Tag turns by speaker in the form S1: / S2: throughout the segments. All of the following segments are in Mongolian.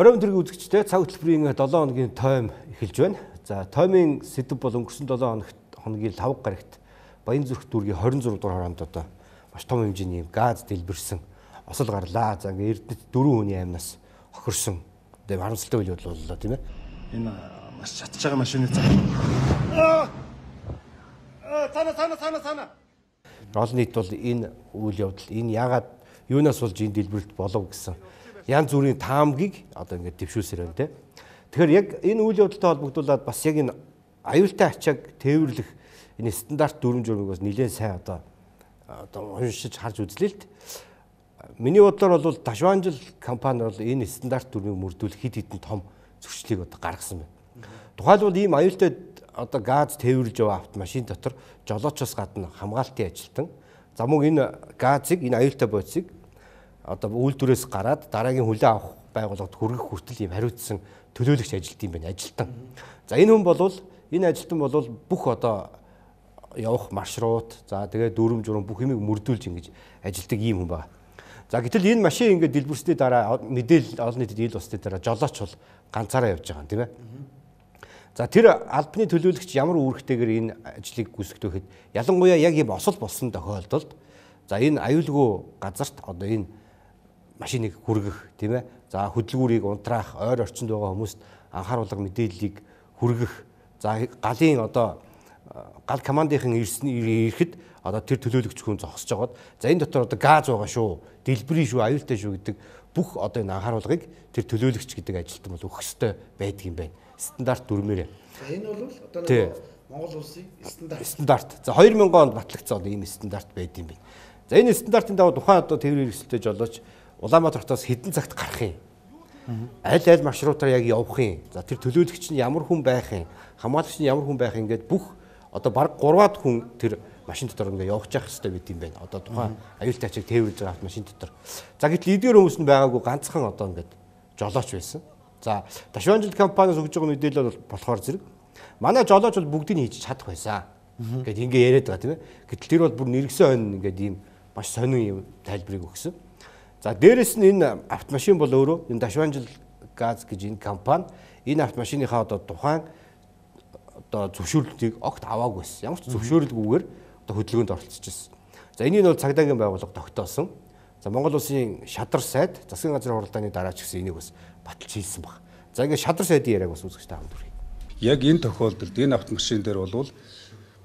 S1: Оройн төргийн үзэгчтэй цаг хөтөлбөрийн 7 хоногийн тойм эхэлж байна. За тоймын сэдэв бол өнгөрсөн 7 хоногийн 5 гарагт Баянзүрх дүүргийн 26 дугаар хоронд одоо маш том хэмжээний газ дэлбэрсэн осол гарлаа. За ингээ Эрдэнэт 4 хүний амнаас хохирсон. Тэгээ харамсалтай үйл явдал боллоо тийм ээ.
S2: Энэ маш чадж байгаа машины цаа. Цана.
S1: Олон нийт бол энэ үйл явдал энэ яагаад юунаас болж энэ дэлбэрэлт болов гэсэн янз бүрийн таамгийг одоо ингээд дэвшүүлсээр байна те. Тэгэхээр яг энэ үйл явдалтай холбогдуулаад бас яг энэ аюултай ачааг тээвэрлэх энэ стандарт дүрм журмыг бас нэлээд сайн одоо уншиж харж үзлээ л т. Миний бодлоор бол Ташванжил компани бол энэ стандарт дүрмийг мөрдүүлэх хэд хэдэн том зөрчлийг одоо гаргасан байна. Тухайлбал ийм аюултай одоо газ тээвэрлж яваа автомашин дотор жолоочоос гадна хамгаалтын ажилтан за мөн энэ газыг энэ аюултай бодисыг одоо үйлдвэрээс гараад дараагийн хүлээн авах байгууллагад хүргэх хүртэл ийм хариуцсан төлөөлөгч ажилт юм байна ажилтан. За энэ хүн болвол энэ ажилтан болвол бүх одоо явах маршрут за тэгээ дүрм журм бүх юмыг мөрдүүлж ингэж ажилтдаг ийм хүн байна. За гэтэл энэ машин ингээд дэлбэрсний дараа мэдээлэл олон нийтэд ил усны дараа жолооч бол ганцаараа явж байгаа юм тийм ээ. За тэр албаны төлөөлөгч ямар үүрэгтэйгээр энэ ажлыг гүйцэтгэх вэ гэхэд ялангуяа яг ийм осол болсон тохиолдолд за энэ аюулгүй газарт одоо энэ машиныг хүргэх тийм ээ. За хөдөлгүүрийг унтраах, ойр орчинд байгаа хүмүүст анхааруулга мэдээллийг хүргэх. За галын одоо гал командын ирэхэд одоо тэр төлөөлөгч хүн зогсож байгаад за энэ дотор одоо газ байгаа шүү, дэлбэрийн шүү, аюултай шүү гэдэг бүх одоо энэ анхааруулгыг тэр төлөөлөгч гэдэг ажилтан бол өгөх ёстой байдаг юм байна. Стандарт дүрмээрээ.
S2: За энэ бол одоо нэг Монгол улсын
S1: стандарт. За 2000 онд батлагдсан ийм стандарт байд юм байна. За энэ стандартын дагуу тухайн одоо тээврийн хэрэгсэлтэй жолооч Улаанбаатар хотоос хэдэн цагт гарах юм? Аль маршрутаар яг явах юм? За тэр төлөөлөгч нь ямар хүн байх юм? Хамгаалагч нь ямар хүн байх юм гээд бүх одоо баг 3-аад хүн тэр машин дотор ингээ явж явах хэрэгтэй байд юм байна. Одоо тухайн аюултай ачааг тээвэрлж байгаа автомашин дотор. За гэтэл эдгээр хүмүүс нь байгаагүй ганцхан одоо ингээд жолооч байсан. За Ташванжил компаниас өгж байгаа мэдээлэл бол болохоор зэрэг манай жолооч бол бүгдийг хийж чадах байсан. Ингээд ингээ яриад байгаа тийм ээ. Гэтэл тэр бол бүр нэргсэн хойно ингээд ийм маш сонин юм тайлбарыг өгсөн. За дээрэс нь энэ автомашин бол өөрөө энэ Ташванжил газ гэж энэ компани энэ автомашиныхаа одоо тухайн одоо зөвшөөрлөлтийг огт аваагүй байсан. Ямар ч зөвшөөрлгүйгээр одоо хөдөлгөөнд оролцож байсан. За энийг бол цагдаагийн байгууллага тогтоосон. За Монгол улсын шадар сайд засгийн газрын хуралдааны дараач гэсэн энийг бас баталж хийсэн баг. За ингээд шадар сайдын яриаг бас үзэгчтэй хамт хүргэе.
S3: Яг энэ тохиолдолд энэ автомашин дээр бол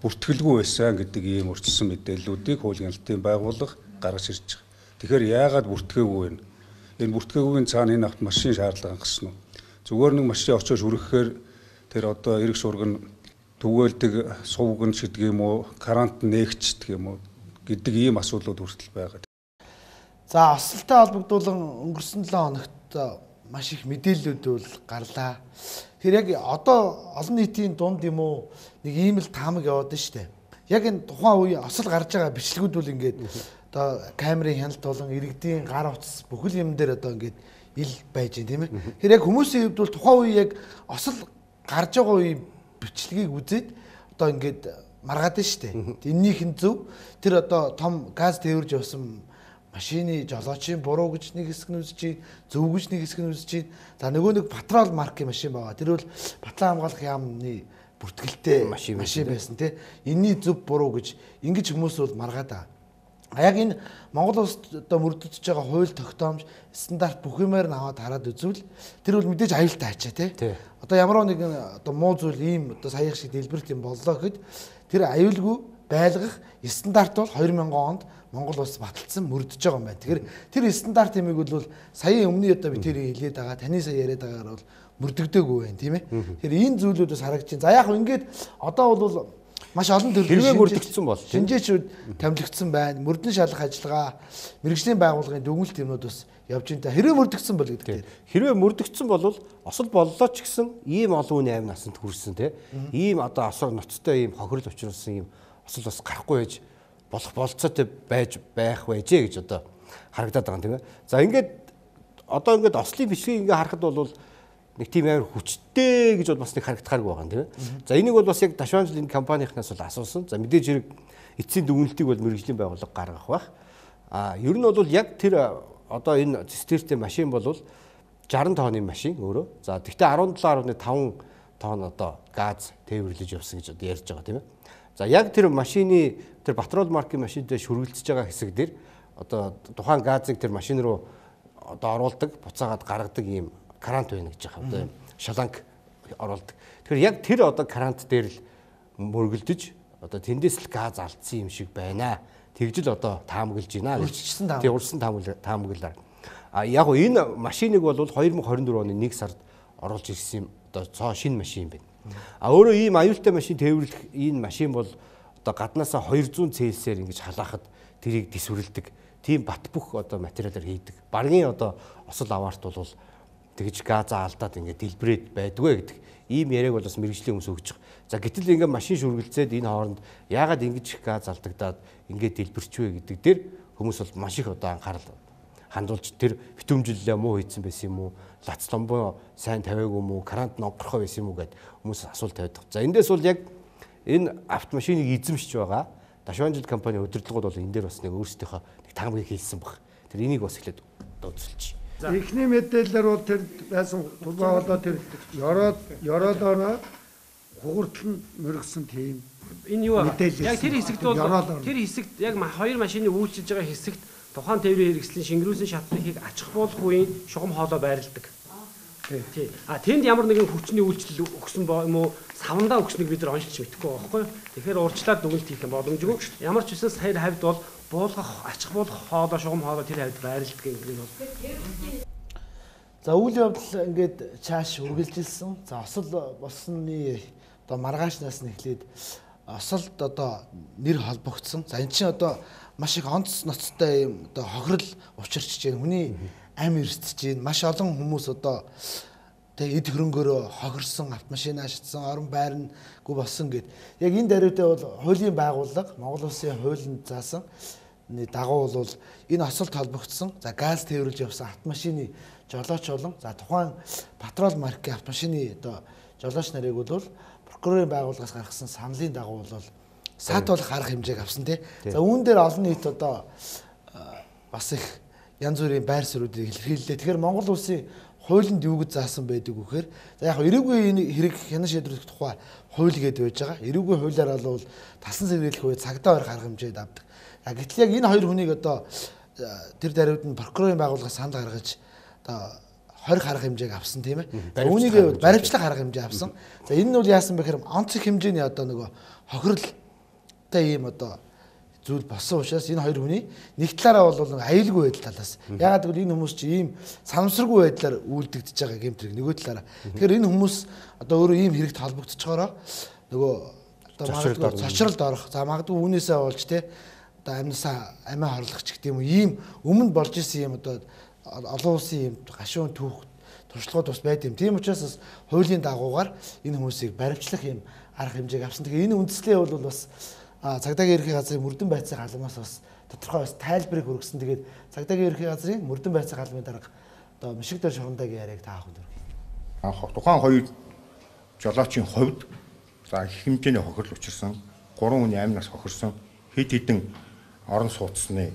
S3: бүртгэлгүй байсан гэдэг ийм өрчлсөн мэдээллүүдийг хуулийн албан байгууллага гаргаж ирж байгаа. Тэгэхээр яагаад бүртгээгүй вэ? Энэ бүртгээгүй цаана энэ автомашин шаардлага хангасан уу? Зүгээр нэг машин очиж хүргэхээр тэр одоо эрэг шурган түгээлдэг сувган шидэх юм уу, карантин нээгчдэг юм уу гэдэг ийм асуудлууд хүртэл байгаа.
S2: За осолтой холбогдуулан өнгөрсөн 7 хоногт маш их мэдээллүүд бол гарлаа. Тэгэхээр яг одоо олон нийтийн дунд юм уу нэг ийм л таамаг яваад байна шүү дээ. Яг энэ тухайн үе осол гарч байгаа бичлэгүүд бол ингээд одоо камерын хяналт болон иргэдийн гар утас бүхэл юм дээр одоо ингээд ил байж байна тийм ээ. Тэгэхээр яг хүмүүсийн хувьд бол тухайн үе яг осол гарч байгаа үе бичлэгийг үзээд одоо ингээд маргаад байна шүү дээ. Эннийх нь зөв тэр одоо том газ тээвэрж явсан машины жолоочийн буруу гэж нэг хэсэг нь үзэж чинь, зөв гэж нэг хэсэг нь үзэж чинь. За нөгөө нэг патрол маркийн машин байгаа. Тэр бол Батлан хамгаалах яамны бүртгэлтэй машин байсан тий. Энийний зөв буруу гэж ингэж хүмүүс бол маргаад байгаа. Яг энэ Монгол улсад одоо мөрдөж байгаа хууль тогтоомж стандарт бүх юмар нь аваад хараад үзвэл тэр бол мэдээж аюултай ачаа тий. Одоо ямар нэгэн одоо муу зүйл ийм одоо саяхан шиг дэлбэрт юм боллоо гэхэд тэр аюулгүй байлгах стандарт бол 2000 онд Монгол улс баталсан мөрдөж байгаа юм байна. Тэгэхээр тэр стандарт юмыг бол саяын өмнө одоо би тэр хэлээд байгаа таны сая яриад байгаагаар бол мөрдөгдөөгүй байна тийм ээ. Тэгэхээр энэ зүйлүүдээс харагдаж байна. За яг хөө ингээд одоо бол маш олон төрлийн
S1: хэрвээ мөрдөгдсөн бол
S2: шинжээчүүд томилогдсон байна. Мөрдөн шалгах ажиллагаа мэргэжлийн байгууллагын дүгнэлт юмнууд бас явж байна. Хэрвээ мөрдөгдсөн бол гэдэг.
S1: Хэрвээ мөрдөгдсөн бол осол боллоо ч гэсэн ийм олон хүний амь насанд хүрсэн тийм ийм одоо осор ноцтой ийм хохирол учруулсан ийм осол бас гарахгүй байж болох болцоотой байж байх байжээ гэж одоо харагдаад байгаа юм тийм ээ. За ингээд одоо ингээд ослын бичлэгийг ингээд харахад бол нэг тийм амар хүчтэй гэж бол бас нэг харагдахааргүй байгаа юм тийм ээ. За энийг бол бас яг Ташванжил энэ компанийнхнаас бол асуусан. За мэдээж хэрэг эцсийн дүгнэлтийг бол мэргэжлийн байгууллага гаргах байх. Ер нь бол яг тэр одоо энэ цистертэй машин бол 60 тонны машин өөрөө. За тэгтээ 17.5 тонн одоо газ тээвэрлэж явсан гэж одоо ярьж байгаа тийм ээ. За яг тэр машины тэр Патрол маркийн машинтай шүргэлцэж байгаа хэсэг дээр одоо тухайн газыг тэр машин руу одоо оруулдаг, буцаагаад гаргадаг ийм крант байна гэж байгаа. Одоо шаланг оруулдаг. Тэгэхээр яг тэр одоо крант дээр л мөргөлдөж одоо тэндээс л газ алдсан юм шиг байна. Тэгж л одоо таамаглаж байна гэж. Урьдчилсан таамаглалаар. А яг энэ машиныг бол 2024 оны 1 сард оруулж ирсэн юм одоо цоо шинэ машин байна. А өөрөө ийм аюултай машин тээвэрлэх энэ машин бол одоо гаднаасаа 200 Цельсиээр ингэж халаахад тэрийг дисвэрлэдэг. Тийм бат бөх одоо материалаар хийдэг. Баргийн одоо осол аваарт бол тэгж газаа алдаад ингээд дэлбрээд байдгүй гэдэг. Ийм яриаг бол бас мэрэгжлийн хүмүүс өгч байгаа. За гэтэл ингээд машин шүргэлцээд энэ хооронд яагаад ингэж их газ алдагдаад ингээд дэлбэрчвэ гэдэг дээр хүмүүс бол маш их одоо анхаарал хандуулж тэр битүүмжлэлээ муу хийсэн байсан юм уу? Лац ломбоо сайн тавиагүй юм уу? Крант нонгорхоо байсан юм уу гэд хүмүүс асуулт тавьдаг. За эндээс бол яг энэ автомашиныг эзэмшиж байгаа Дашванжил компани удирдлагууд бол энэ дээр бас нэг өөрсдийнхөө нэг таамагийг хийсэн баг. Тэр энийг бас эхлээд үзүүлчих.
S4: Эхний мэдээлэлээр бол тэр байсан тулбаа болоо тэр ёроолоор хугартал мөргсөн тийм.
S5: Энэ юу вэ? Яг тэр хэсэгт бол тэр хэсэгт яг хоёр машины үйлчилж байгаа хэсэгт тухайн тээврийн хэрэгслийн шингэрүүлсэн шатлыг ачих болох үеийн шугам хоолой байрладаг. Тий. А тэнд ямар нэгэн хүчний үйлчлэл өгсөн юм уу? Савандаа өгснэг бид нар онцлж мэдэхгүй байхгүй юу? Тэгэхээр урьдчилаад дүгнэлт хийх юм боломжгүй. Ямар ч үсэн саяр хавьд бол буулгах, ачих буулгах хоолой, шугам хоолой тэр хавьд байрладаг юм бол.
S2: За үйл явдал ингээд чааш үргэлжилсэн. За осол болсны одоо маргаашнаас нь эхлээд осолд одоо нэр холбогдсон. За эн чинь одоо маш их онц ноцтой юм одоо хохирол учирч чинь хүний ам эрсдэж чинь маш олон хүмүүс одоо тэг эд хөрөнгөөр хохирсон автомашинаа шатсан орон байрнаггүй болсон гэд. Яг энэ даруйдаа бол хуулийн байгууллага Монгол Улсын хуулинд заасан дагуу бол энэ осолд холбогдсон. За газ тээвэрлж явсан автомашины жолооч болон за тухайн Патрол маркийн автомашины одоо жолооч нарыг бол прокурорын байгууллагаас гаргасан саналын дагуу бол саатуулах арга хэмжээг авсан тий. За үүн дээр олон нийт одоо бас их янз бүрийн байр суурьдыг илэрхийллээ. Тэгэхээр Монгол Улсын хуулинд юу гэж заасан байдаг вэхээр за яг эрүүгийн энэ хэрэг хянан шийдвэрлэх тухай хууль гэдэг байж байгаа. Эрүүгийн хуулиар бол талсан сэргийлэх үед цагдаа барих арга хэмжээд авдаг. Гэтэл яг энэ хоёр хүнийг одоо тэр даруйд нь прокурорын байгууллагаас санал гаргаж одоо 20 арга хэмжээг авсан тийм ээ. Үүнийг баримтлах арга хэмжээ авсан. За энэ нь бол яасан бэ гэхээр онц их хэмжээний одоо нөгөө хохиролтой ийм одоо зүйл болсон учраас энэ хоёр хүний нэг талаараа бол аюулгүй байдал талаас. Ягаад гэвэл энэ хүмүүс чи ийм санамсаргүй байдлаар үйлдэгдэж байгаа гэмтрэг нөгөө талаараа. Тэгэхээр энэ хүмүүс одоо өөрөө ийм хэрэгт холбогдчихороо нөгөө одоо магадгүй цочролд орох. За магадгүй үүнээсээ болж те одоо амнасаа амиа хорлох ч гэдэг юм уу ийм өмнө болж исэн юм одоо олон улсын ийм гашуун түүх туршлагууд бас байд юм. Тийм учраас бас хуулийн дагуугаар энэ хүмүүсийг баримтлах юм арга хэмжээг авсан. Тэгэхээр энэ үндслээ бол бас цагдаагийн ерхий газрын мөрдөн байцааг албанаас бас тодорхой бас тайлбарыг хүргэсэн. Тэгээд цагдаагийн ерхий газрын мөрдөн байцааг албаны дарга одоо Мишигдэр Шурандагийн яриаг та ахын дөрөв.
S6: Тухайн хоёр жолоочийн хувьд за их хэмжээний хохирол учирсан, 3 хүний амнаас хохирсон, хэд хэдэн орон сууцны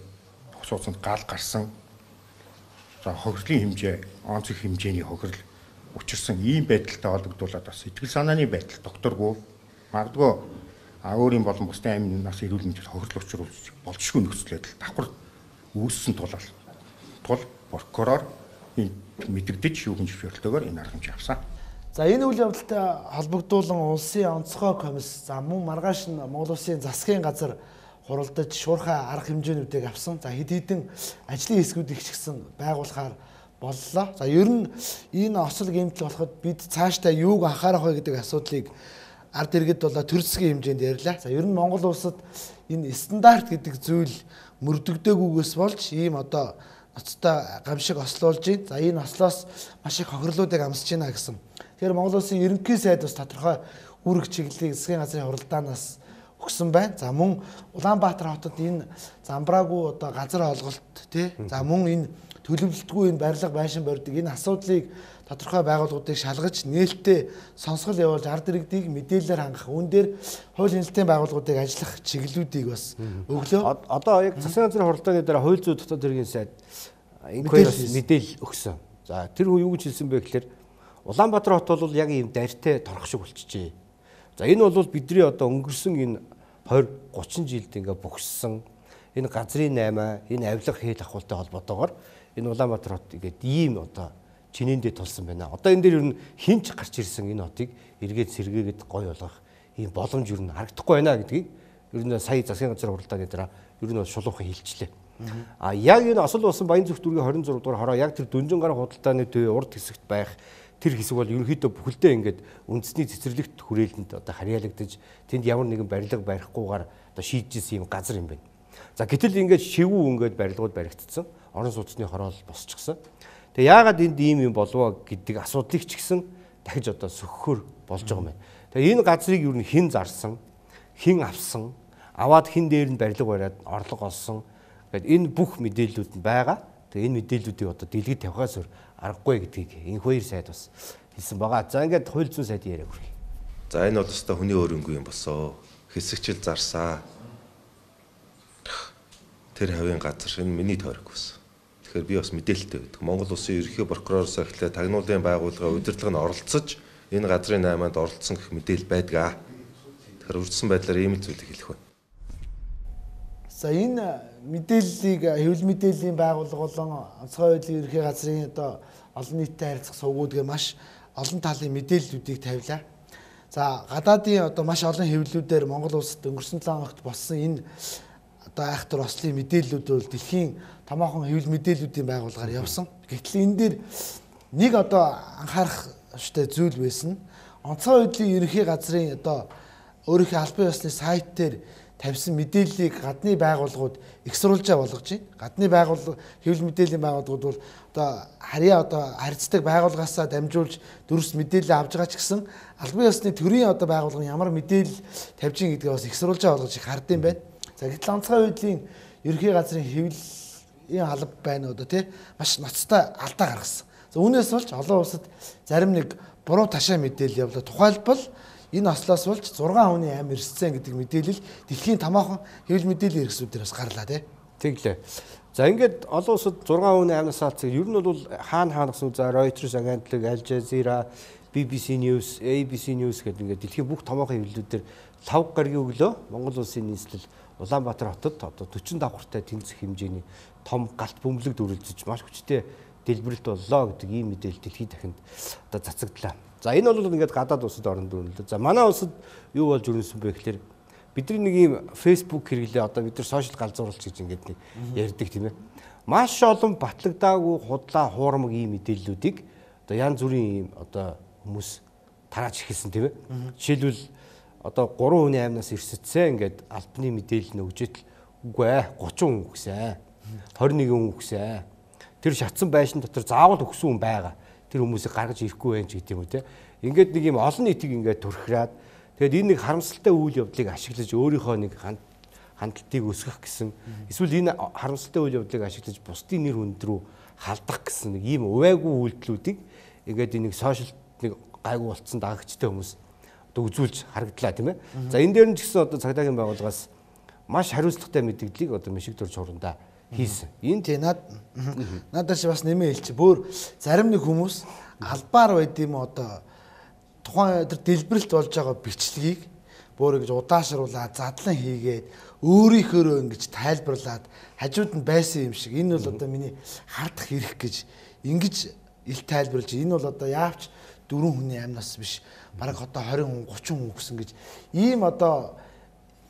S6: сууцанд гал гарсан. За хохирлын хэмжээ, онц их хэмжээний хохирол учирсан ийм байдалтай холбогдуулаад бас сэтгэл санааны байдал докторгүй магадгүй өөрийн болон бусдын амнаас эрүүл мэндэд хохирол учруулж болжгүй нөхцөл байдал давхар үүссэн тул прокурор энэ мэдэгдэж шүүхэн зөвшөөрлөөгөөр энэ арга хэмжээ авсан.
S2: За энэ үйл явдалтай холбогдуулан улсын онцгой комисс за мөн маргааш нь Монгол Улсын засгийн газар хуралдаж шуурхай арга хэмжээнүүдийг авсан. За хэд хэдэн ажлын хэсгүүд ихчгсэн байгуулахаар боллоо. За ер нь энэ осол гэмтэл болоход бид цаашдаа юуг анхаарах вэ гэдэг асуудлыг ард иргэд болоо төр засгийн хэмжээнд ярьлаа. За ер нь Монгол улсад энэ стандарт гэдэг зүйл мөрдөгдөөгүйгээс болж ийм одоо ноцтой гамшиг ослуулж байна. За энэ ослоос маш их хохирлуудыг амсаж байна гэсэн. Тэгэхээр Монгол улсын ерөнхий сайд бас тодорхой үүрэг чиглэлийг засгийн газрын хуралдаанаас өгсөн байна. За мөн Улаанбаатар хотод энэ замбраагүй одоо газар олголт тий. За мөн энэ төлөвлөлтгүй энэ барилга байшин барьдаг энэ асуудлыг тодорхой байгууллагуудыг шалгаж нээлттэй сонсгол явуулж ард иргэдийг мэдээлэлээр хангах үүн дээр хууль хяналтын байгууллагуудыг ажиллах чиглэлүүдийг бас өглөө.
S1: Одоо яг засгийн газрын хуралдааны дараа хууль зүйн дотоод хэргийн сайд инквайриас мэдээлэл өгсөн. За тэр хүн юу гэж хэлсэн бэ гэхээр Улаанбаатар хот бол яг ийм дайртай торох шиг болчихжээ. За энэ бол бидний одоо өнгөрсөн энэ 20 30 жилд ингээ богссон энэ газрын 8 энэ авилга хэл ахуйтай холбоотойгоор энэ Улаанбаатар хот ингээд ийм одоо чинээндээ тулсан байна. Одоо энэ дээр ер нь хинч гарч ирсэн энэ хотыг эргээд сэргээгээд гой болгох ийм боломж ер нь харагдахгүй байна гэдгийг ер нь сая засгийн газрын хуралдааны дараа ер нь шулуухан хэлжлээ. А яг энэ осол болсон Баянзүрх дүүргийн 26 дугаар хороо яг тэр Дүнжин гар худалдааны төв урд хэсэгт байх тэр хэсэг бол ерөнхийдөө бүхэлдээ ингээд үндэсний цэцэрлэгт хүрээлэнд одоо харьяалагдаж тэнд ямар нэгэн барилга барихгүйгээр одоо шийдчихсэн юм газар юм байна. За гэтэл ингээд шивүү ингээд барилгууд баригдсан. Орон сууцны хороо босчихсон. Тэгээ яагаад энд ийм юм болов гэдэг асуудлыг ч гэсэн дахиж одоо сөхөхөр болж байгаа юм байна. Тэгээ энэ газрыг ер нь хэн зарсан, хэн авсан, аваад хэн дээр нь барилга бариад орлого олсон гэдэг энэ бүх мэдээллүүд нь байгаа. Тэгээ энэ мэдээллүүдийг одоо дэлгэд тавихаас өөр аргагүй гэдгийг энэ хоёр сайд бас хэлсэн байгаа. За ингээд хууль зүйн сайдын яриаг хүргэе.
S7: За энэ бол өстой хүний өөрөнгөө юм босоо. Хэсэгчл зарсаа. Тэр хавийн газар энэ миний тойрог байсан. Тэгэхээр би бас мэдээлэлтэй байдаг. Монгол Улсын ерөнхий прокуророос эхлээд тагнуулын байгууллагын удирдлага нь оролцож энэ газрын 8-нд оролцсон гэх мэдээлэл байдаг. Тэгэхээр үрдсэн байдлаар ийм л зүйлийг хэлэх байна.
S2: За энэ мэдээллийг хэвлэл мэдээллийн байгууллага болон онцгой байдлын ерөнхий газрын одоо олон нийтэд харилцах сувгуудгаар маш олон талын мэдээллүүдийг тавилаа. За гадаадын одоо маш олон хэвлэлүүдээр Монгол улсад өнгөрсөн 7 хоногт болсон энэ одоо айхтар ослын мэдээллүүд бол дэлхийн томоохон хэвлэл мэдээллүүдийн байгууллагаар явсан. Гэтэл энэ дээр нэг одоо анхаарах ёстой зүйл байсан. Онцгой байдлын ерөнхий газрын одоо өөрийнхөө албан ёсны сайт дээр тавьсан мэдээллийг гадны байгууллагууд эксруулжаа болгож байна. Гадны байгууллага хэвлэл мэдээллийн байгууллагууд бол одоо харьцдаг байгууллагаасаа дамжуулж дөрөс мэдээлэл авж байгаа ч гэсэн албан ёсны төрийн одоо байгууллага ямар мэдээлэл тавьж ийн гэдгээ бас эксруулжаа болгож их хардсан байна. За гэтэл онцгой байдлын ерөнхий газрын хэвлэлийн алба байна одоо тий маш ноцтой алдаа гаргасан. За үүнээс болж олон улсад зарим нэг буруу ташаа мэдээлэл явлаа. Тухайлбал энэ ослоос болж 6 хүний амь ирсэн гэдэг мэдээлэл дэлхийн томоохон хэвлэл мэдээллийн хэрэгслүүдээр бас гарлаа тий.
S1: Тэглээ. За ингээд олон улсад 6 хүний амнаас алдсан. Ер нь бол хаана гэсэн за Reuters агентлаг, Al Jazeera, BBC News, ABC News гэдэг ингээд дэлхийн бүх томоохон хэвлэлүүдээр 5 гаргийн өглөө Монгол улсын нийслэл Улаанбаатар хотод одоо 40 давхартай тэнцэх хэмжээний том галт бөмбөлөг дүрлжиж маш хүчтэй дэлбэрэлт боллоо гэдэг ийм мэдээлэл дэлхийн дахинд одоо цацагдлаа. За энэ бол ингээд гадаад улсад орон дүрлээ. За манай улсад юу болж өрнөсөн бэ гэхээр бидний нэг ийм Facebook хэрэглээ одоо бид нар сошиал галзууруулч гэж ингээд нэг ярьдаг тийм ээ. Маш олон батлагдаагүй худлаа хуурмаг ийм мэдээллүүдийг одоо янз бүрийн ийм одоо хүмүүс тарааж эхэлсэн тийм ээ. Жишээлбэл одоо 3 хүний амнаас ирсэцсэн ингээд албаны мэдээлэл нь өгжэтэл үгүй ээ 30 хүн өгсөн. 21 хүн өгсөн. Тэр шатсан байшин дотор заавал өгсөн хүн байгаа. Тэр хүмүүсийг гаргаж ирэхгүй байх гэдэг юм үү те. Ингээд нэг юм олон нийтийг ингээд төрхраад тэгээд энэ нэг харамсалтай үйл явдлыг ашиглаж өөрийнхөө нэг хандлтыг өсгөх гэсэн эсвэл энэ харамсалтай үйл явдлыг ашиглаж бусдын нэр хүнд рүү халдах гэсэн нэг ийм увайгүй үйлдэлүүдийг ингээд энэ нэг сошиал нэг гайгүй болцсон дагагчтай хүмүүс одоо үзүүлж харагдлаа тийм ээ. За энэ дээр нь ч гэсэн одоо цагдаагийн байгууллагаас маш хариуцлагатай мэдээллийг одоо Мишиг Дурж хурандаа хийсэн. Энэ
S2: тий надад ч бас нэмээ хэлчих. Бүр зарим нэг хүмүүс албаар байд юм одоо тухайн өдөр дэлбэрэлт болж байгаа бичлэгийг бүр ингэж удаашруулаад задлан хийгээд өөрийнхөө ингэж тайлбарлаад хажууд нь байсан юм шиг энэ бол одоо миний хардах хэрэг гэж ингэж ил тайлбарлаж энэ бол одоо яавч 4 хүний амнаас биш бараг одоо 20 хүн 30 хүн гэсэн гэж ийм одоо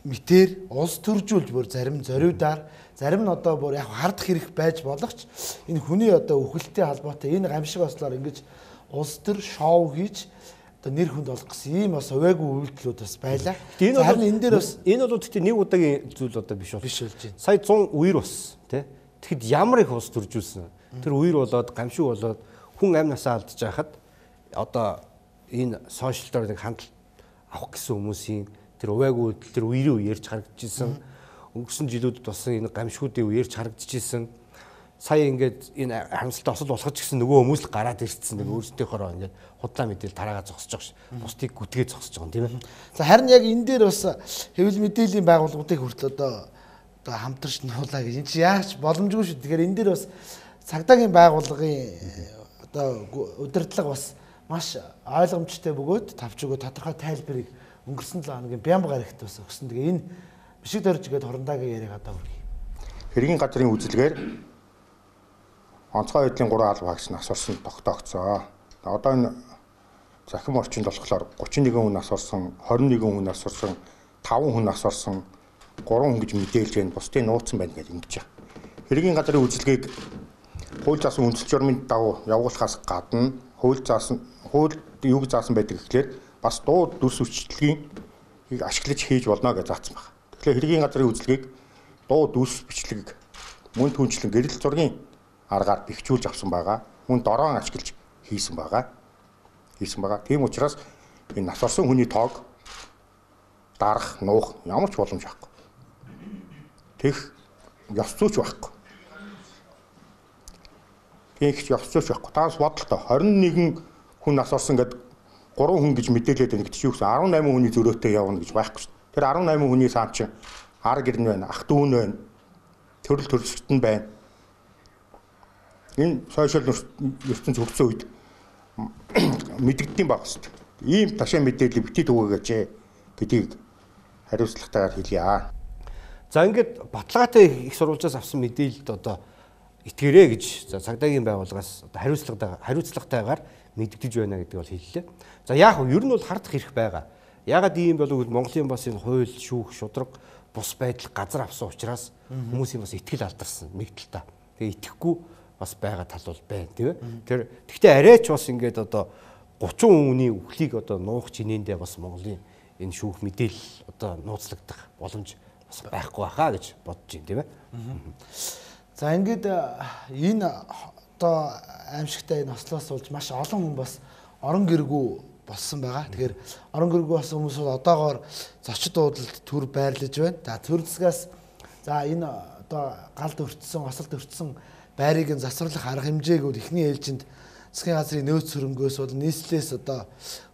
S2: мэтэр улс төржүүлж бүр зарим зориудаар зарим нь одоо бүр яг хардах хэрэг байж болох ч энэ хүний одоо үхэлтэй холбоотой энэ гамшиг ослоор ингэж улс төр шоу хийж одоо нэр хүнд олох гэсэн ийм бас увайгүй үйлдэлүүд бас байлаа. Харин энэ дээр бас
S1: энэ бол гэхдээ нэг удаагийн зүйл одоо биш
S2: болж байна.
S1: Сая 100 үер бас тий. Тэгэхэд ямар их улс төржүүлсэн. Тэр үер болоод гамшиг болоод хүн амнасаа алдж байхад одоо энэ сошиал дээр нэг хандлт авах гэсэн хүмүүсийн тэр увайгүй үйлдэл тэр үерөө ярьж харагдчихсан. Өнгөрсөн жилүүдэд болсон энэ гамшигуудын үерж харагдчихсан. Сая ингээд энэ харамсалтай осол болохож гисэн нөгөө хүмүүс л гараад ирсэн нэг өөрсдийнхоороо ингээд худлаа мэдээлэл тараагаа зогсож байгаа ш. Бусдыг гүтгээ зогсож байгаа юм тийм ээ.
S2: За харин яг энэ дээр бас хэвлэл мэдээллийн байгууллагуудыг хүртэл одоо хамтарч нуулаа гэж энэ чи яаж боломжгүй шүү. Тэгэхээр энэ дээр бас цагдаагийн байгууллагын одоо удирдлага бас маш ойлгомжтой бөгөөд тавч өгөө тодорхой тайлбарыг өнгөрсөн 7 хоногийн Бямба гарагт бас өгсөн. Тэгээ энэ бишиг дөрж гээд хорондагийн яриаг одоо хүргэе.
S6: Хэргийн газрын үзэлгээр онцгой байдлын 3 алба хаагч нас орсон тогтоогдсон. Одоо энэ захим орчинд болохоор 31 хүн нас орсон, 21 хүн нас орсон, 5 хүн нас орсон, 3 хүн гэж мэдээлж байна. Бусдын нууцсан байна гэж ингэж байна. Хэргийн газрын үзэлгийг хууль заасан үндсэл журмын дагуу явуулахаас гадна хууль юуг заасан байдаг гэхлээр бас дуу дүрс хүчилгээг ашиглаж хийж болно гэж заасан байна. Тэгэхээр хэргийн газрын үзэлгийг дуу дүрс бичлэг мөн түнчлэн гэрэл зургийн аргаар бэхжүүлж авсан байгаа. Мөн дороон ашиглаж хийсэн байгаа. Тийм учраас энэ нас орсон хүний тоог дарах, нуух ямар ч боломж байхгүй. Тех ёс зүйч байхгүй. Тэгж ёс зүйч байхгүй. Таас бодолтой 21 хүн нас орсон гэдэг 3 хүн гэж мэдээлээд байна гэдэг чинь юу гэсэн 18 хүний зөрөөтэй явна гэж байхгүй шүү дээ. Тэр 18 хүний саан чинь ар гэрн байна, ах дүүн байна, төрөл төрөлсөлтөн байна. Энэ сошиал ертөнц хөгжсөн үед мэдэгддэм баг шүү дээ. Ийм ташаа мэдээлэл битгий түгээгээч гэдгийг хариуцлагатайгаар хэлье.
S1: За ингээд баталгаатай их сурвалжаас авсан мэдээлэлд одоо итгэрээ гэж цагдаагийн байгууллагаас одоо хариуцлагатайгаар мэдэгдэж байна гэдэг бол хэллээ. За яг нь ер нь бол хардах хэрэг байгаа. Ягаад ийм болов гэвэл Монголын бас энэ хууль, шүүх, шудраг, бус байдал газар авсан учраас хүмүүсийн бас итгэл алдарсан мэгдэлтэй. Тэгээ итгэхгүй бас байгаа тал бол байна тийм ээ. Тэгвэл арайч бас ингээд одоо 30 хүний үхлийг одоо нуух чинээндээ бас Монголын энэ шүүх мэдээлэл одоо нууцлагдах боломж бас байхгүй байхаа гэж бодож байна тийм ээ.
S2: За ингээд энэ одоо аимшигтай энэ ослоос болж маш олон хүн бас орон гэргүй болсон байгаа. Тэгэхээр орон гэргүй болсон хүмүүс бол одоогоор зочид дуудалд төр байрлаж байна. За төр засгаас за энэ одоо галд өртсөн, осолд өртсөн байрыг нь засварлах арга хэмжээг бол эхний ээлжинд засгийн газрын нөөц хөрөнгөөс бол нийслэлээс одоо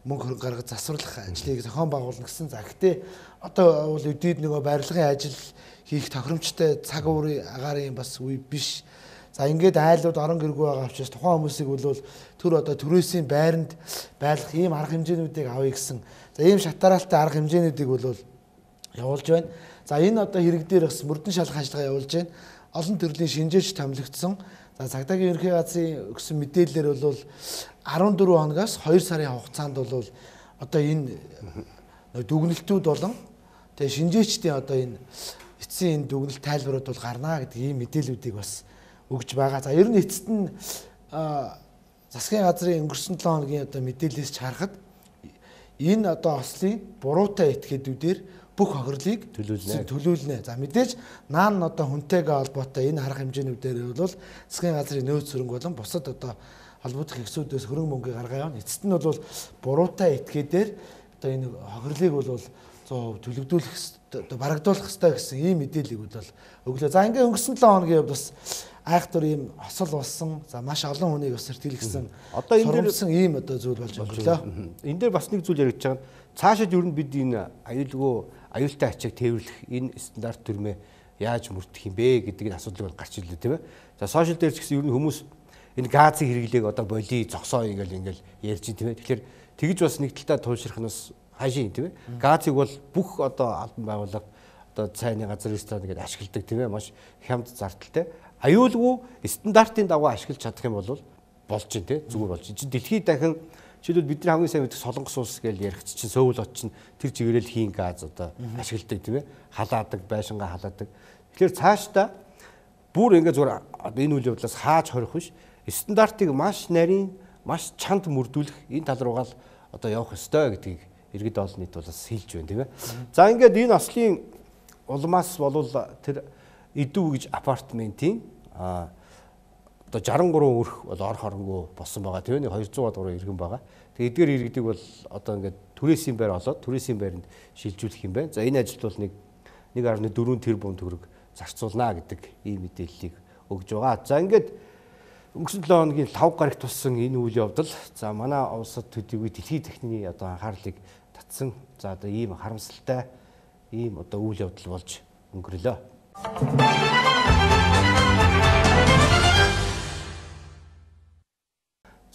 S2: мөнгө хөрөнгө гаргаж засварлах ажлыг зохион байгуулна гэсэн. За гэхдээ одоо бол өдийд нөгөө барилгын ажил хийх тохиромжтой цаг уурын агаарын бас үе биш. За ингээд айлууд орон гэргүй байгаа учраас тухайн хүмүүсийг бол төр одоо төрөөсийн байранд байлгах ийм арга хэмжээнүүдийг авъя гэсэн. За ийм шатараалтай арга хэмжээнүүдийг бол явуулж байна. За энэ одоо хэрэг дээр бас мөрдөн шалгах ажиллагаа явуулж байна. Олон төрлийн шинжээч томилогдсон. За цагдаагийн ерөнхий газрын өгсөн мэдээлэлээр бол 14 хоногоос 2 сарын хугацаанд бол одоо энэ дүгнэлтүүд болон тэгээ шинжээчдийн одоо энэ эцсийн энэ дүгнэлт тайлбарууд бол гарнаа гэдэг ийм мэдээллүүдийг бас өгж байгаа. За ер нь эцэст нь засгийн газрын өнгөрсөн 7 хоногийн одоо мэдээлэлээс харахад энэ одоо ослын буруутай этгээдүүдээр бүх хохирлыг төлүүлнэ. За мэдээж наан одоо хүнтэйгээ холбоотой энэ арга хэмжээнүүдээр бол засгийн газрын нөөц хөрөнгө болон бусад одоо холбогдох хэсгүүдээс хөрөнгө мөнгө гаргаа явна. Эцэст нь бол буруутай этгээдээр одоо энэ хохирлыг бол 100% төлөвлөх одоо барагдуулах хэрэгтэй гэсэн ийм мэдээллийг бол өглөө. За ингээ өнгөрсөн 7 хоногийн хувьд бас айхтар ийм осол болсон. За маш олон хүнийг бас сэтгэлгэсэн.
S1: Одоо энэ
S2: дээрсэн ийм одоо зүйл болж өглөө.
S1: Энэ дээр бас нэг зүйл яригдж байгаа нь цаашид ер нь бид энэ аюултай ачааг тээвэрлэх энэ стандарт төрмөө яаж мөрдөх юм бэ гэдэг энэ асуудлыг гарч ирлээ тийм ээ. За сошиал дээр ч гэсэн ер нь хүмүүс энэ газын хэрэглээг одоо боли зогсоо ингээл ярьж тийм ээ. Тэгэхээр тэгж бас нэг талтаа туйлшрах нь бас хаашийн тийм ээ. Газыг бол бүх одоо албан байгууллага одоо цайны газар ресторан гэдэг ашигладаг тийм ээ. Маш хямд зардалтай. Аюулгүй стандартын дагуу ашиглаж чадах юм бол болж байна тийм зүгээр болж. Чи дэлхийд дахин жишээлбэл бидний хамгийн сайн мэддэг Солонгос улс гэж ярих чинь Сөүл хот чинь тэр чигээрэл хийн газ одоо ашигладаг тийм ээ. Халаадаг, байшингаа халаадаг. Тэгэхээр цаашдаа бүр ингээ зүгээр энэ үйл явдлаас хааж хорих биш. Стандартыг маш нарийн, маш чанд мөрдүүлэх энэ тал руугаа л одоо явах ёстой гэдгийг иргэд олон нийт бол хэлж байна тийм ээ. За ингээд энэ ослын улмаас болвол тэр Идэв гэж апартментийн одоо 63 өрх бол ор хоронгүй болсон байгаа. Тэр нь 200 гаруй иргэн байгаа. Тэгээ эдгээр иргэдэг бол одоо ингээд түрээсийн байр олоод түрээсийн байранд шилжүүлэх юм байна. За энэ ажилд бол 1.4 тэрбум төгрөг зарцуулна гэдэг ийм мэдээллийг өгж байгаа. За ингээд өнгөрсөн 7 хоногийн 5 гарагт туссан энэ үйл явдал за манай улсад төдийгүй дэлхийн техникийн одоо анхаарлыг татсан. За одоо ийм харамсалтай ийм одоо үйл явдал болж өнгөрлөө.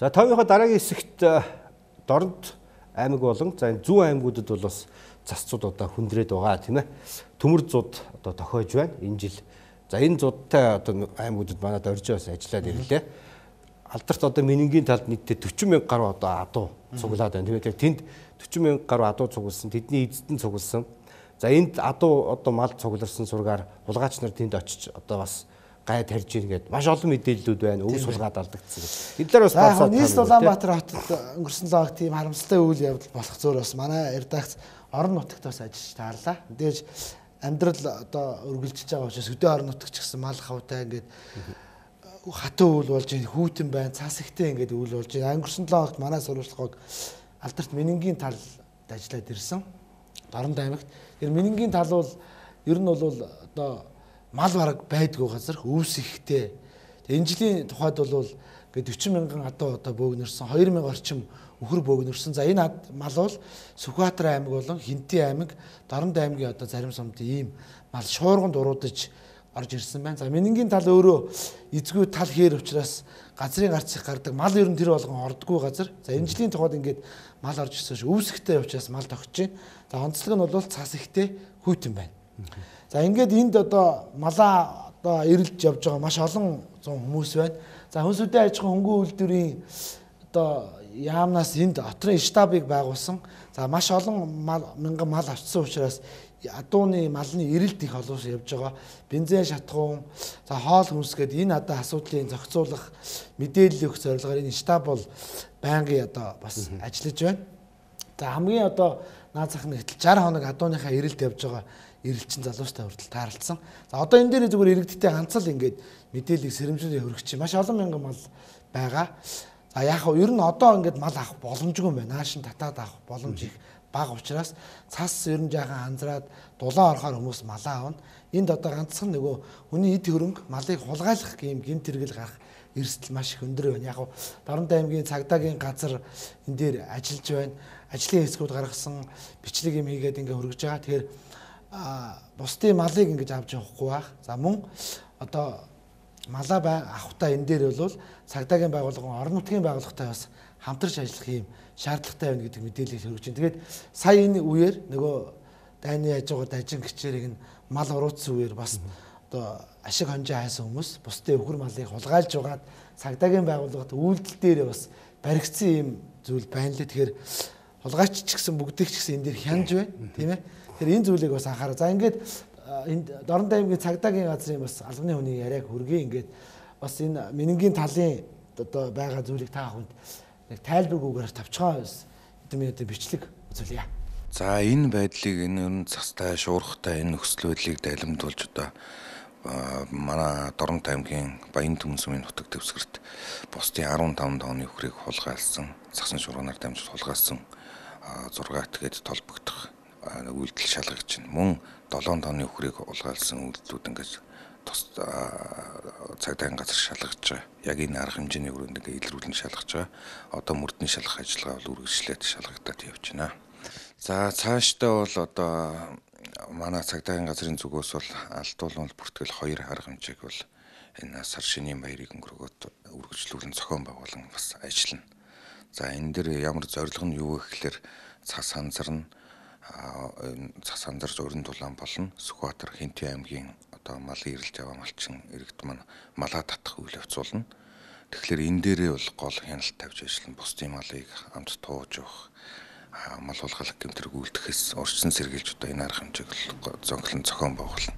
S1: За товынхоо дараагийн хэсэгт Дорнод аймаг болон за энэ зүүн аймагуудад бол бас засцууд одоо хүндрээд байгаа тийм ээ. Төмөр зууд одоо тохиож байна энэ жил. За энэ зуудтай одоо аймагуудад манад оржоос ажиллаад ирлээ. Алдарт одоо Менингийн талд нийтдээ 40 мянга гаруй одоо адуу цуглаад байна. Тэгээд тэнд 40 мянга гаруй адуу цугласан, тэдний эзэдэн цугласан. За энд адуу одоо мал цугларсан сургаар хулгайч нар тэнд очиж одоо бас гай тарьж ийн гэдэг маш олон мэдээллүүд байна. Өв сулгаад алдагдсан. Энэ дээр бас бацаад.
S2: Нийс Улаанбаатар хотод өнгөрсөн лог тийм харамсалтай үйл явдал болох зөөр бас манай редакц орон нутагт бас ажиллаж таарлаа. Мэдээж амьдрал одоо үргэлжлэж байгаа учраас өдөө орон нутагч гэсэн мал хавтай ингээд хатуу үйл болж хүүтэн байна, цас ихтэй ингээд үйл болж байна. Өнгөрсөн 7 хоногт манай сурвалжлагыг алдарт Менингийн талд ажиллаад ирсэн. Дорнод аймагт. Тэр Менингийн тал бол ер нь бол одоо мал бараг байдгүй газар өвс ихтэй. Энэ жилийн тухайд бол ингээд 40 мянган адуу одоо бөөгнөрсөн, 2000 орчим өхөр бөөгнөрсөн. За энэ мал бол Сүхбаатар аймаг болон Хинтээ аймаг, Дорнод аймгийн одоо зарим сумд ийм мал шуурганд уруудаж орж ирсэн байна. За Менингийн тал өөрөө эзгүй тал хээр учраас газрын гарц их гардаг мал ер нь тэр болгон ордгүй газар. За энэ жилийн тухайд ингээд мал орж ирсэн ш өвс ихтэй учраас мал тогтож байна. За онцлог нь бол цас ихтэй хүйтэн байна. За ингээд энд одоо малаа одоо ирэлж явж байгаа маш олон зуун хүмүүс байна. За хүнсүдэн аж ахуйн хөнгөн үйлдвэрийн одоо яамнаас энд отрын штабыг байгуулсан. За маш олон мянган мал авчсан учраас адууны малны ирэлт их олоос явж байгаа. Бензин шатхуун, за хоол хүнс гэдэг энэ одоо асуудлыг зохицуулах мэдээлэл өгөх зорилгоор энэ штаб бол байнгын одоо бас ажиллаж байна. За хамгийн одоо наад зах нь 60 хоног адууныхаа ирэлт явж байгаа ирэлчин залуустай хүртэл таарлцсан. За одоо энэ дээр зүгээр иргэдтэй ганц л ингээд мэдээллийг сэрэмжлүүлээ хөргөж чинь маш олон мянган мал байгаа. За яг нь ер нь одоо ингээд мал авах боломжгүй юм байна. Наашин татаад авах боломж их бага учраас цас ер нь жаахан анзраад дулаан орохоор хүмүүс малаа авна. Энд одоо ганцхан нөгөө хүний эд хөрөнгө малыг хулгайлах гэм гэмт хэрэгэл гарах эрсдэл маш их өндөр байна. Яг нь Дорнод аймгийн цагдаагийн газар энэ дээр ажиллаж байна. Ажлын хэсгүүд гаргасан бичлэг юм хийгээд ингээ хөргөж байгаа. Тэгэхээр бусдын малыг ингэж авч явахгүй байх. За мөн одоо малаа авахтаа энэ дээр бол цагдаагийн байгууллага, орон нутгийн байгууллагатай бас хамтарч ажиллах юм шаардлагатай байна гэдэг мэдээлэл хүргэж байна. Тэгээд сая энэ үеэр нөгөө дайны хажуугад ажин гिचэрийг нь мал уруутсан үеэр бас одоо ашиг хонжоо хайсан хүмүүс бусдын өхөр малыг хулгайлж угаад цагдаагийн байгууллагад үйлдэл дээр бас баригдсан юм зүйл байна лээ. Тэгэхээр хулгайч ч гэсэн бүгдийг ч гэсэн энэ дээр хянж байна, тийм ээ. Тэр энэ зүйлийг бас анхаараа. За ингээд энд Дорнод аймгийн цагдаагийн газрын бас албаны хүний яриаг хүргэе. Ингээд бас энэ Менингийн талын одоо байгаа зүйлийг та бүхэнд яг тайлбаргүйгээр тавчгаа эдэмээ бичлэг үзүүлье.
S8: За энэ байдлыг энэ ер нь цастай, шуурхтай энэ нөхцөл байдлыг дайлимдуулж одоо манай Дорнод аймгийн Баян Түмэн сумын нутаг дэвсгэрт бусдын 15 тонны өхрийг хулгайлсан, цасан шуурганаар дамжуулж хулгайлсан 6 тэгээд толбогдох үйлдэл шалгагч нь мөн 7 тонны өхрийг хулгайлсан үйлдэлүүд ингэж тус цагдаагийн газар шалгаж байгаа. Яг энэ арга хэмжээний өрөөнд ингээ илрүүлэн шалгаж байгаа. Одоо мөрдний шалгах ажиллагаа бол үргэлжлээд шалгагдаад явж байна. За цаашдаа бол одоо манай цагдаагийн газрын зүгээс бол алдуулан бүртгэл 2 арга хэмжээг бол энэ сар шинийн баярыг өнгөрөөд үргэлжлүүлэн зохион байгуулан бас ажиллана. За энэ дээр ямар зорилго нь юу вэ гэхээр цас ханзарна, цас ханзарч өрн дулаан болно. Сүхбаатар Хинтээ аймгийн одоо малын ирэлж аваа малчин иргэд маань малаа татах үйл явц болно. Тэгэхээр энэ дээрээ бол гол хяналт тавьж ажиллана. Бусдын малыг амт тууж явах, мал хулгайлах гэмтэрэг үйлдэхээс урьдчилан сэргийлж одоо энэ арга хэмжээг зонхлон зохион байгуулна.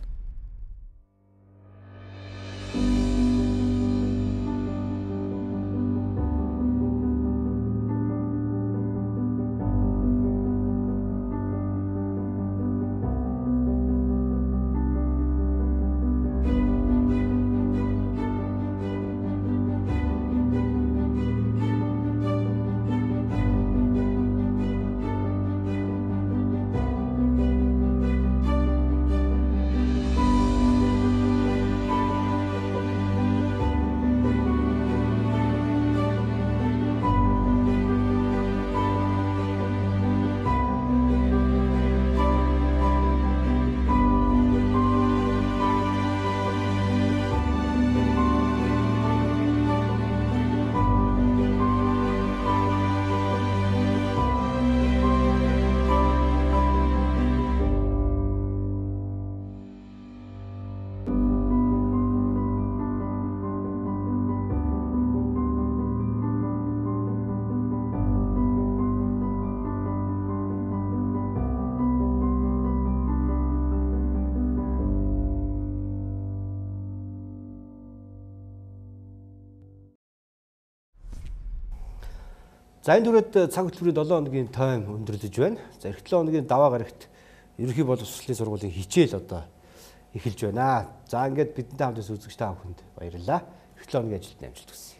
S1: За энэ дүрээд цаг хөтөлбөрийн 7 хоногийн тайм өндөрлөж байна. За эх 7 хоногийн даваа гарагт ерөнхий боловсролын сургуулийн хичээл одоо эхэлж байна. За ингээд бидэнтэй хамт үзэгч та бүхэнд баярлалаа. Эх 7 хоногийн ажилтны амжилт хүсье.